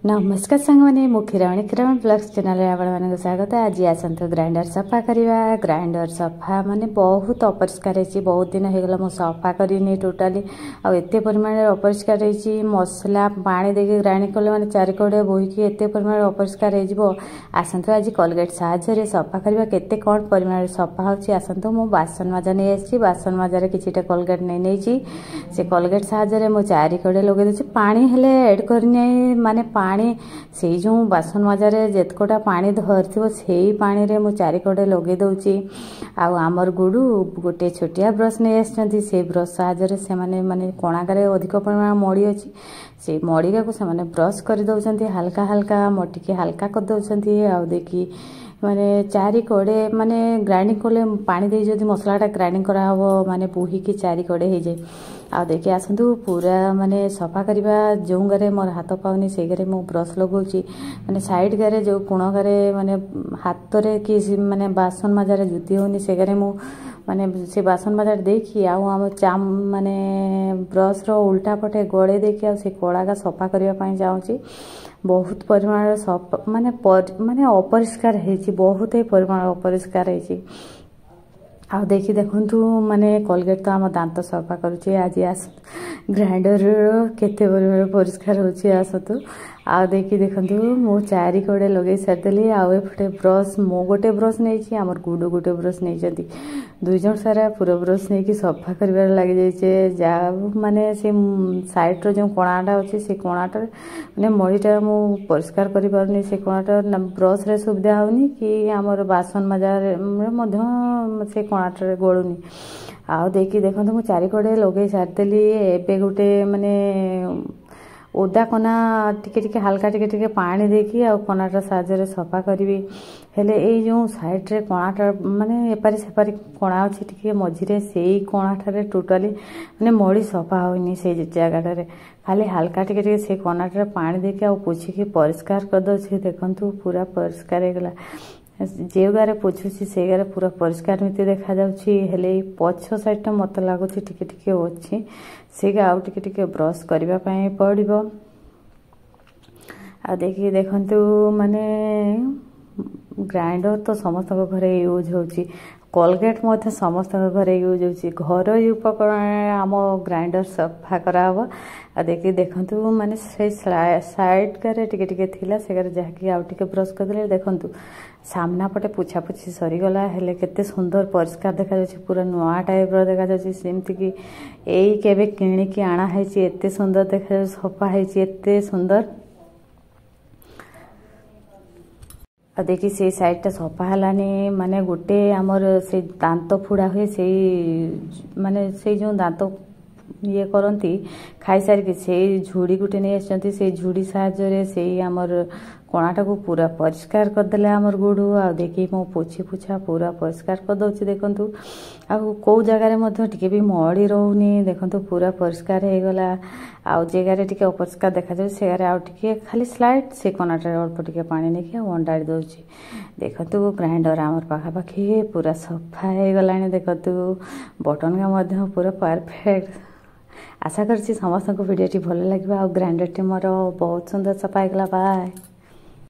ନମସ୍କାର ସାଙ୍ଗମାନେ, ମୁଁ କ୍ଷୀରମଣି, କ୍ଷୀରମଣି ବ୍ଲଗ୍ସ ଚ୍ୟାନେଲରେ ଆପଣମାନଙ୍କୁ ସ୍ୱାଗତ। ଆଜି ଆସନ୍ତୁ ଗ୍ରାଇଣ୍ଡର ସଫା କରିବା। ଗ୍ରାଇଣ୍ଡର ସଫା ମାନେ ବହୁତ ଅପରିଷ୍କାର ହେଇଛି, ବହୁତ ଦିନ ହେଇଗଲା ମୁଁ ସଫା କରିନି ଟୋଟାଲି। ଆଉ ଏତେ ପରିମାଣରେ ଅପରିଷ୍କାର ହେଇଛି, ମସଲା ପାଣି ଦେଇକି ଗ୍ରାଇଣ୍ଡିଙ୍ଗ କଲେ ମାନେ ଚାରିକଡ଼େ ବୋହିକି ଏତେ ପରିମାଣରେ ଅପରିଷ୍କାର ହେଇଯିବ। ଆସନ୍ତୁ ଆଜି କଲଗେଟ୍ ସାହାଯ୍ୟରେ ସଫା କରିବା, କେତେ କ'ଣ ପରିମାଣରେ ସଫା ହେଉଛି। ଆସନ୍ତୁ, ମୁଁ ବାସନ ମଜା ନେଇ ଆସିଛି। ବାସନ ମଜାରେ କିଛିଟା କଲଗେଟ୍ ନେଇ ନେଇଛି। ସେ କଲଗେଟ୍ ସାହାଯ୍ୟରେ ମୁଁ ଚାରିକଡ଼େ ଲଗେଇ ଦେଉଛି। ପାଣି ହେଲେ ଏଡ଼୍ କରିନାହିଁ, ମାନେ ପାଣି ସେଇ ଯେଉଁ ବାସନ ମଜାରେ ଯେତକଟା ପାଣି ଧରିଥିବ ସେଇ ପାଣିରେ ମୁଁ ଚାରିକଡ଼େ ଲଗେଇ ଦେଉଛି। ଆଉ ଆମର ଗୁଡ଼ୁ ଗୋଟେ ଛୋଟିଆ ବ୍ରସ୍ ନେଇ ଆସିଛନ୍ତି। ସେଇ ବ୍ରସ୍ ସାହାଯ୍ୟରେ ସେମାନେ ମାନେ କଣାକାରେ ଅଧିକ ପରିମାଣ ମଳି ଅଛି, ସେଇ ମଳିକାକୁ ସେମାନେ ବ୍ରସ୍ କରିଦେଉଛନ୍ତି, ହାଲକା ହାଲକା ଟିକେ ହାଲକା କରିଦେଉଛନ୍ତି। ଆଉ ଦେଖି ମାନେ ଚାରିକଡ଼େ ମାନେ ଗ୍ରାଇଣ୍ଡିଙ୍ଗ କଲେ ପାଣି ଦେଇ ଯଦି ମସଲାଟା ଗ୍ରାଇଣ୍ଡିଙ୍ଗ କରାହେବ ମାନେ ବୋହିକି ଚାରିକଡ଼େ ହେଇଯାଏ। ଆଉ ଦେଖି ଆସନ୍ତୁ ପୁରା ମାନେ ସଫା କରିବା। ଯେଉଁ ଗାରେ ମୋର ହାତ ପାଉନି ସେଇ ଗାରେ ମୁଁ ବ୍ରସ୍ ଲଗାଉଛି, ମାନେ ସାଇଡ଼୍ ଗାରେ ଯେଉଁ କୋଣ ଗାରେ ମାନେ ହାତରେ କି ମାନେ ବାସନ ମଜାରେ ଜୁତି ହେଉନି, ସେ ଗାରେ ମୁଁ ମାନେ ସେ ବାସନ ମଜାରେ ଦେଇକି ଆଉ ଆମ ମାନେ ବ୍ରସ୍ର ଉଲ୍ଟା ପଟେ ଗଳେଇ ଦେଇକି ଆଉ ସେ କଳାଟା ସଫା କରିବା ପାଇଁ ଚାହୁଁଛି। ବହୁତ ପରିମାଣର ସଫା ମାନେ ମାନେ ଅପରିଷ୍କାର ହେଇଛି, ବହୁତ ହି ପରିମାଣର ଅପରିଷ୍କାର ହେଇଛି। ଆଉ ଦେଖି ଦେଖନ୍ତୁ ମାନେ କଲଗେଟ୍ ତ ଆମ ଦାନ୍ତ ସଫା କରୁଛି। ଆଜି ଆସ ଗ୍ରାଇଣ୍ଡରର କେତେ ପରିମାଣର ପରିଷ୍କାର ହେଉଛି ଆସନ୍ତୁ। ଆଉ ଦେଖି ଦେଖନ୍ତୁ ମୁଁ ଚାରିକଡ଼େ ଲଗେଇ ସାରିଦେଲି। ଆଉ ଏପଟେ ବ୍ରସ୍ ମୁଁ ଗୋଟେ ବ୍ରସ୍ ନେଇଛି, ଆମର ଗୁଡ଼ୁ ଗୋଟେ ବ୍ରସ୍ ନେଇଛନ୍ତି। ଦୁଇ ଜଣ ସାରା ପୁରା ବ୍ରସ୍ ନେଇକି ସଫା କରିବାରେ ଲାଗିଯାଇଛେ। ଯାହା ମାନେ ସେ ସାଇଡ଼୍ର ଯେଉଁ କଣାଟା ଅଛି ସେ କଣାଟାରେ ମାନେ ମଳିଟା ମୁଁ ପରିଷ୍କାର କରିପାରୁନି। ସେ କଣାଟା ବ୍ରସ୍ରେ ସୁବିଧା ହେଉନି କି ଆମର ବାସନ ମଜାରେ ମଧ୍ୟ ସେ କଣାଟାରେ ଗଳୁନି। ଆଉ ଦେଖି ଦେଖନ୍ତୁ ମୁଁ ଚାରିକଡ଼େ ଲଗେଇ ସାରିଦେଲି। ଏବେ ଗୋଟେ ମାନେ ଓଦା କନା ଟିକେ ଟିକେ ହାଲକା ଟିକେ ଟିକେ ପାଣି ଦେଇକି ଆଉ କନାଟା ସାହାଯ୍ୟରେ ସଫା କରିବି। ହେଲେ ଏଇ ଯେଉଁ ସାଇଡ଼୍ରେ କଣାଟା ମାନେ ଏପାରି ସେପାରି କଣା ଅଛି ଟିକେ ମଝିରେ, ସେଇ କଣାଟାରେ ଟୋଟାଲି ମାନେ ମଳି ସଫା ହେଉନି। ସେଇ ଜାଗାଟାରେ ଖାଲି ହାଲକା ଟିକେ ଟିକେ ସେଇ କଣାଟାରେ ପାଣି ଦେଇକି ଆଉ ପୋଛିକି ପରିଷ୍କାର କରିଦେଉଛି। ଦେଖନ୍ତୁ ପୁରା ପରିଷ୍କାର ହେଇଗଲା। ଯେଉଁ ଗାରେ ପୋଛୁଛି ସେଇ ଗାରେ ପୁରା ପରିଷ୍କାର ଏମିତି ଦେଖାଯାଉଛି। ହେଲେ ଏଇ ପଛ ସାଇଡ଼୍ଟା ମୋତେ ଲାଗୁଛି ଟିକେ ଟିକେ ଅଛି, ସେଇଟା ଆଉ ଟିକେ ଟିକେ ବ୍ରସ୍ କରିବା ପାଇଁ ପଡ଼ିବ। ଆଉ ଦେଖିକି ଦେଖନ୍ତୁ ମାନେ ଗ୍ରାଇଣ୍ଡର ତ ସମସ୍ତଙ୍କ ଘରେ ୟୁଜ୍ ହେଉଛି, କଲଗେଟ୍ ମଧ୍ୟ ସମସ୍ତଙ୍କ ଘରେ ୟୁଜ୍ ହେଉଛି। ଘରୋଇ ଉପକରଣରେ ଆମ ଗ୍ରାଇଣ୍ଡର ସଫା କରାହେବ। ଆଉ ଦେଖି ଦେଖନ୍ତୁ ମାନେ ସେଇ ସାଇଡ଼୍ରେ ଟିକେ ଟିକେ ଥିଲା, ସେଗାରେ ଯାହାକି ଆଉ ଟିକେ ବ୍ରସ୍ କରିଦେଲେ। ଦେଖନ୍ତୁ ସାମ୍ନା ପଟେ ପୋଛାପୋଛି ସରିଗଲା, ହେଲେ କେତେ ସୁନ୍ଦର ପରିଷ୍କାର ଦେଖାଯାଉଛି, ପୁରା ନୂଆ ଟାଇପ୍ର ଦେଖାଯାଉଛି। ସେମିତିକି ଏଇ କେବେ କିଣିକି ଆଣା ହେଇଛି, ଏତେ ସୁନ୍ଦର ଦେଖାଯାଉଛି, ସଫା ହେଇଛି ଏତେ ସୁନ୍ଦର। ଆଉ ଦେଖି ସେଇ ସାଇଡ଼୍ଟା ସଫା ହେଲାନି, ମାନେ ଗୋଟେ ଆମର ସେଇ ଦାନ୍ତ ଫୁଡ଼ା ହୁଏ, ସେଇ ମାନେ ସେଇ ଯେଉଁ ଦାନ୍ତ ଇଏ କରନ୍ତି ଖାଇସାରିକି, ସେଇ ଝୁଡ଼ି ଗୋଟେ ନେଇ ଆସିଛନ୍ତି। ସେଇ ଝୁଡ଼ି ସାହାଯ୍ୟରେ ସେଇ ଆମର କଣାଟାକୁ ପୁରା ପରିଷ୍କାର କରିଦେଲେ ଆମର ଗୁଡ଼ୁ। ଆଉ ଦେଖି ମୁଁ ପୋଛି ପୋଛା ପୁରା ପରିଷ୍କାର କରିଦେଉଛି। ଦେଖନ୍ତୁ ଆଉ କେଉଁ ଜାଗାରେ ମଧ୍ୟ ଟିକେ ବି ମଳି ରହୁନି। ଦେଖନ୍ତୁ ପୁରା ପରିଷ୍କାର ହେଇଗଲା। ଆଉ ଜାଗାରେ ଟିକେ ଅପରିଷ୍କାର ଦେଖାଯାଉଛି ସେ ଜାଗାରେ ଆଉ ଟିକେ ଖାଲି ସ୍ଲାଇଡ଼ ସେ କଣାଟାରେ ଅଳ୍ପ ଟିକେ ପାଣି ନେଇକି ଆଉ ଅଣ୍ଡାଳି ଦେଉଛି। ଦେଖନ୍ତୁ ଗ୍ରାଇଣ୍ଡର ଆମର ପାଖାପାଖି ପୁରା ସଫା ହେଇଗଲାଣି। ଦେଖନ୍ତୁ ବଟନ୍ଟା ମଧ୍ୟ ପୁରା ପରଫେକ୍ଟ। ଆଶା କରୁଛି ସମସ୍ତଙ୍କୁ ଭିଡ଼ିଓଟି ଭଲ ଲାଗିବ। ଆଉ ଗ୍ରାଇଣ୍ଡରଟି ମୋର ବହୁତ ସୁନ୍ଦର ସଫା ହେଇଗଲା। ବାଏ।